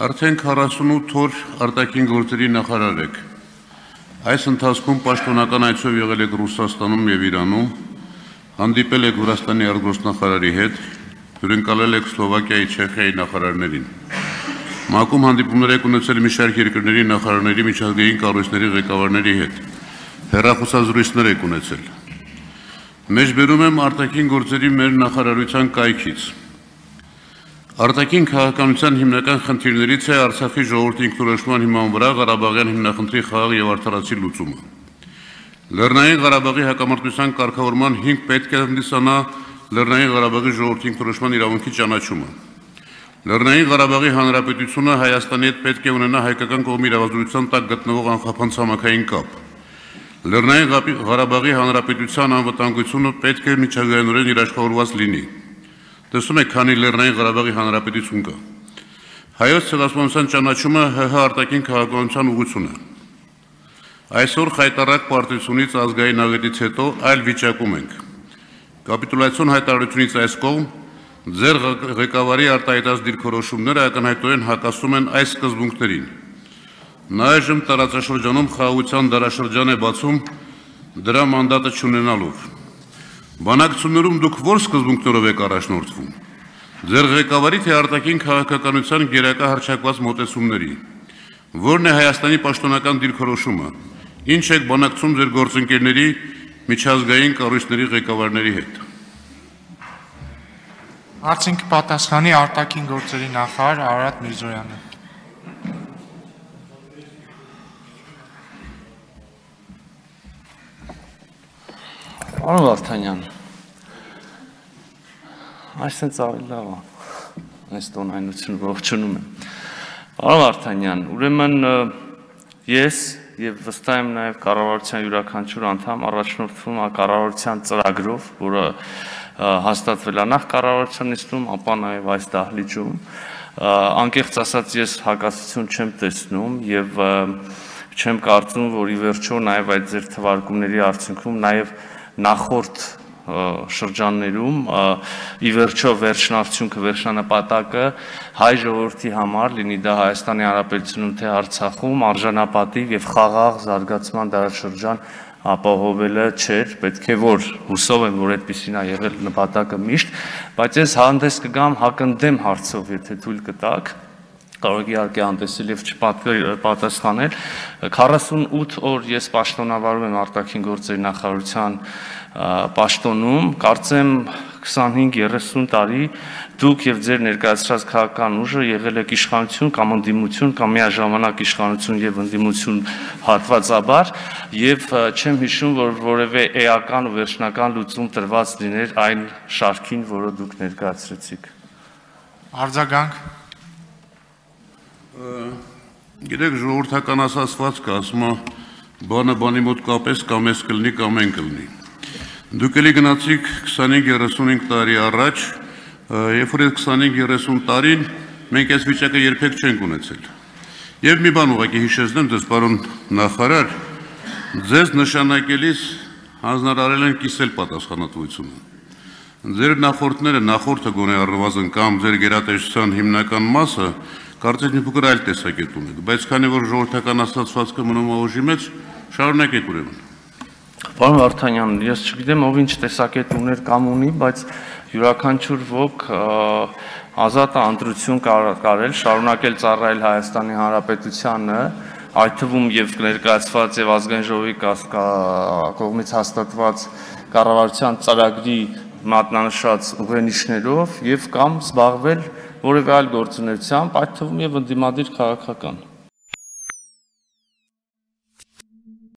Արդեն 48 օր արտաքին գործերի նախարար եք։ Այս ընթացքում պաշտոնական այցով եղել եք Ռուսաստանում և Իրանում, հանդիպել եք Վրաստանի արտգործնախարարի հետ, հյուրընկալել եք Սլովակիայի, Չեխիայի նախարարներին։ ՄԱԿ-ում հանդիպումներ եք ունեցել մի շարք երկրների նախարարների, միջազգային կառույցների ղեկավարների հետ, հեռախոսազրույցներ եք ունեցել։ Մեջբերում եմ արտաքին գործերի մեր նախարարության կայքից։ Արտաքին քաղաքականության հիմնական խնդիրներից է Արցախի ժողովրդի ինքնորոշման հիման վրա Ղարաբաղյան հիմնախնդրի խաղաղ և արդարացի լուծումը։ Լեռնային Ղարաբաղի հակամարտության կարգավորման հիմք պետք է հանդիսանա Լեռնային Ղարաբաղի ժողովրդի ինքնորոշման իրավունքի ճանաչումը։ Լեռնային Ղարաբաղի Հանրապետությունը Հայաստանի հետ պետք է ունենա հայկական կողմի իրավազորության տակ գտնվող անխափան ցամաքային կապ։ Լեռնային Ղարաբաղի Հանրապետության անվտանգությունը պետք է միջազգայինորեն երաշխավորված լինի։ Տեսնում եք, քանի Լեռնային Ղարաբաղի Հանրապետություն կա։ Հայոց ցեղասպանության ճանաչումը ՀՀ արտաքին քաղաքականության ուղղություն է։ Այսօր խայտառակ պարտությունից ազգային աղետից հետո այլ վիճակում ենք։ Կապիտուլյացիոն հայտարարությունից այս կողմ ձեր ղեկավարի արտահայտած դիրքորոշումները ակնհայտորեն հակասում են այս սկզբունքներին։ Նա այժմ տարածաշրջանում խաղաղության դարաշրջան է բացում դրա մանդատը չունենալով։ Բանակցություններում դուք ո՞ր սկզբունքներով եք առաջնորդվում։ Ձեր ղեկավարի թե արտաքին քաղաքականության գերակա հռչակված մոտեցումների։ Որն է Հայաստանի պաշտոնական դիրքորոշումը։ Ինչ եք բանակցում ձեր գործընկերների, միջազգային կառույցների ղեկավարների հետ։ Հարցին կպատասխանի արտաքին գործերի նախարար Արարատ Միրզոյանը։ Պարոն Վարդանյան, այսպես ավելի լավ է, այս տոնայնությունը ողջունում եմ։ Պարոն Վարդանյան, ուրեմն ես և վստահ եմ նաև կառավարության յուրաքանչյուր անդամ առաջնորդվում է կառավարության ծրագրով, որը հաստատվել է նախ կառավարության նիստում, ապա նաև այս դահլիճում։ Անկեղծ ասած ես հակասություն չեմ տեսնում և չեմ կարծում, որ ի վերջո նաև այդ ձեր թվարկումների արդյունքում նաև նախորդ շրջաններում ի վերջո վերջնարդյունքը, վերջնանպատակը հայ ժողովրդի համար, լինի դա Հայաստանի Հանրապետությունում թե Արցախում, արժանապատիվ և խաղաղ զարգացման դարաշրջան ապահովելը չէր, պետք է որ հուսով եմ, որ այդպիսին է եղել նպատակը միշտ, բայց ես հանդես կգամ հակընդդեմ հարցով, եթե թույլ կտաք, կարող իհարկե հանդեսել և չպատասխանել։ 48 օր ես պաշտոնավարում եմ արտաքին գործերի նախարարության պաշտոնում, կարծեմ 25-30 տարի դուք և ձեր ներկայացրած քաղաքական ուժը եղել եք իշխանություն կամ ընդդիմություն կամ միաժամանակ իշխանություն և ընդդիմություն հատվածաբար և չեմ հիշում, որ որևէ էական ու վերջնական լուծում տրված լիներ այն շարքին, որը դուք ներկայացրեցիք։ Արձագանք։ Գիտեք, ժողովրդական ասացվածքը ասում է բանը բանի մոտ կապես կամ ես կլինի կամ են կլինի։ Դուք էլի գնացիք 25-35 տարի առաջ, երբ որ այդ 25-30 տարին մենք այս վիճակը երբեք չենք ունեցել։ Եվ մի բան ուղղակի հիշեցնեմ ձեզ, պարոն նախարար, ձեզ նշանակելիս հանձնարարել են կիսել պատասխանատվությունը։ Ձեր նախորդները, նախորդը գոնե առնվազն կամ ձեր գերատեսչության հիմնական մասը կարծես մի փոքր այլ տեսակետ ունեք, բայց քանի որ ժողովրդական ասացվածքը մնում է ուժի մեջ, շարունակեք ուրեմն։ Պարոն Վարդանյան, ես չգիտեմ ով ինչ տեսակետ ուներ կամ ունի, բայց յուրաքանչյուր ոք ազատ ընտրություն կարել, շարունակել ծառայել Հայաստանի Հանրապետությանը, այդ թվում և ներկայացված և ազգային ժողովի կողմից հաստատված կառավարության ծրագրի մատնանշած ուղենիշներով և կամ զբաղվել որևէ այլ գործունեությամբ, այդ թվում և ընդդիմադիր քաղաքական։